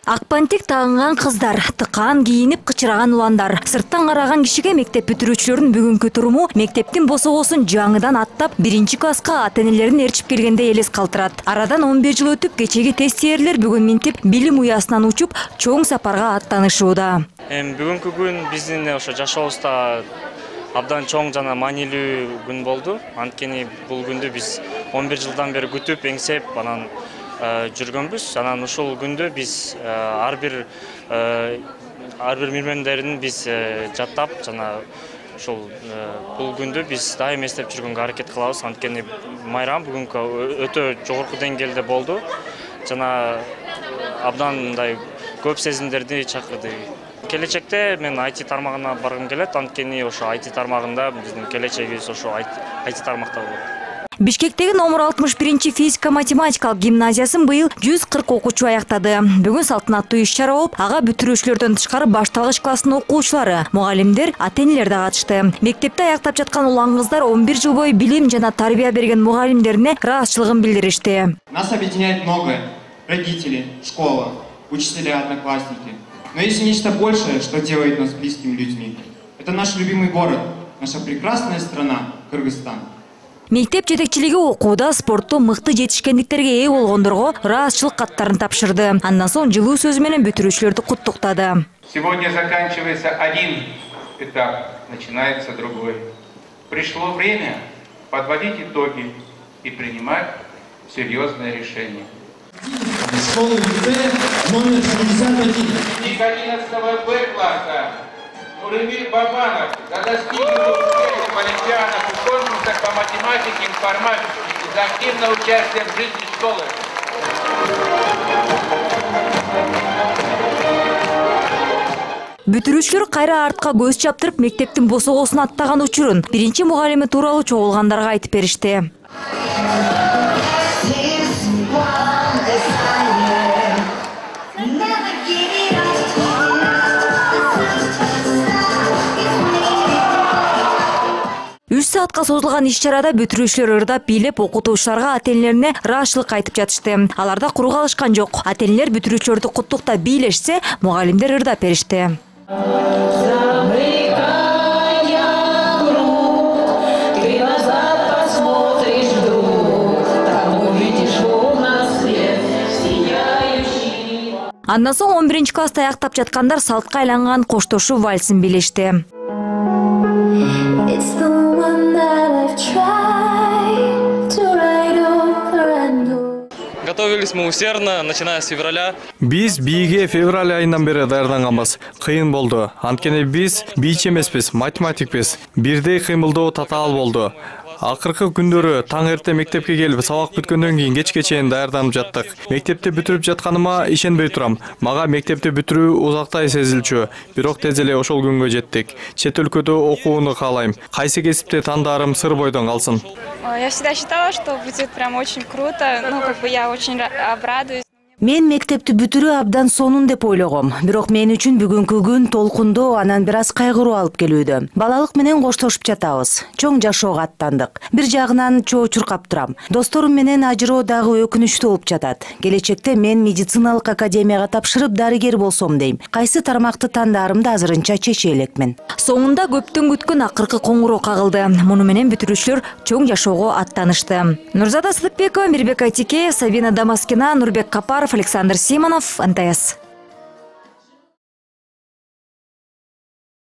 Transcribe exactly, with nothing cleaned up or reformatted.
Акпантик тагынган кыздар, тыкаан кийинип кычыраган уландар. Сырттан караган кишиге мектеп бүтүрүүчүлөрүнүн бүгүнкү туруму мектептин босогосун жаңыдан аттап, биринчи класска ата-энелерин ээрчип келгенде элес калтырат. Арадан он беш жыл өтүп, кечеги тест терирлер бүгүн минтип билим уясынан учуп, чоң сапарга аттанышууда. Эми бүгүнкү күн биздин ошо жашообузда абдан чоң жана маанилүү күн болду. Анткени бул күндү биз он бир жылдан бери күтүп, эңсеп, анан жүргөнбүз. Анан ушул күндү биз ар бир ар бир мирмендерин биз жаттап, жана ушул бул күндү биз дайым эстеп жүргөнгө аракет кылабыз. Анткени майрам бүгүнкү өтө жогорку деңгээлде болду. Жана абдан мындай көп сезимдерди чакырды. Келечекте мен ай ти тармагына баргым келет, анткени ошо ай ти тармагында биздин келечегибиз ошо ай ти тармакта болот. Бишкектеги номер алтымыш биринчи физика-математикалык гимназиясын быйыл жүз кырк окуучу аяктады. Бүгүн салтанаттуу иш-чара болуп, ага бүтүрүүчүлөрдөн тышкары башталгыч класстын окуучулары, мугалимдер, ата-энелер да катышты. Мектепте аяктап жаткан улан кыздар он бир жыл бою билим жана тарбия берген мугалимдерине ыраазычылыгын билдиришти. Нас объединяет многое: родители, школа, учителя, одноклассники. Но есть нечто большее, что делает нас близкими людьми. Это наш любимый город, наша прекрасная страна Кыргызстан. Мектеп жетекчилиги окууда, спортто мыкты жетишкендиктерге ээ болгондорго ыраазычылык каттарын тапшырды. Андан соң жылуу сөзү менен бүтүрүүчүлөрдү куттуктады. Сегодня заканчивается один этап, начинается другой. Пришло время подводить итоги и принимать серьезные решения. Школа Б номер шестьдесят один. одиннадцатого Б класса Нурымир Бабанов за достигнутые успехи в олимпиадах и конкурсах по математике и информатике и за активное участие в жизни школы. Бүтүрүүчүлөр кайра артка көз чаптырып, мектептин босогосун аттаган учурун биринчи мугалими тууралуу чогулгандарга айтып беришти. үч саатка созулган иш-чарада бүтүрүүчүлөр ырдап, бийлеп, окутуучуларга, ата-энелерине ыраазычылык айтып жатышты. Аларда куру калышкан жок. Ата-энелер бүтүрүүчүлөрдү куттуктап бийлешсе, мугалимдер ырдап беришти. Андан соң он биринчи класста аяктап жаткандар салтка айланган коштошуу вальсин бийлешти. Готовились мы усердно, начиная с февраля. Биз бийге февраль айынан бери даярданганбыз. Кыйын болду. Анткени биз бийчи эмеспиз, математикпиз. Бирдей кыймылдоо татаал болду. Акыркы күндөрү таң эрте мектепке келип, сабак бүткөндөн кийин кечке чейин даярданып жаттык. Мектепти бүтүрүп жатканыма ишенбей турам. Мага мектепти бүтүрүү узактай сезилчү. Бирок тез эле ошол күнгө жеттик. Чет өлкөдө окууну каалайм. Кайсы кесипти тандаарым сыр бойдон калсын. Я всегда считала, что будет прям очень круто. Ну, как бы я очень обрадуюсь. Мен мектепти бүтүрүү абдан сонун деп ойлогом. Бирок мен үчүн бүгүнкү күн толкундуу, анан бир аз кайгыруу алып келүүдө. Балалык менен коштошуп жатабыз. Чоң жашоого аттандык. Бир жагынан чоо чуркап турам. Досторум менен ажыроо дагы өкүнүчтүү болуп жатат. Келечекте мен медициналык академияга тапшырып дарыгер болсом дейм. Кайсы тармакты тандаарымды азырынча чече элекмин. Соңунда көптөн күткөн акыркы коңгуроо кагылды. Муну менен бүтүрүүчүлөр чоң жашоого аттанышты. Нурзада Сыдыкбекова, Мирбек Айтикеев, Сабина Дамаскина, Нурбек Капаров, Александр Симонов, эн тэ эс.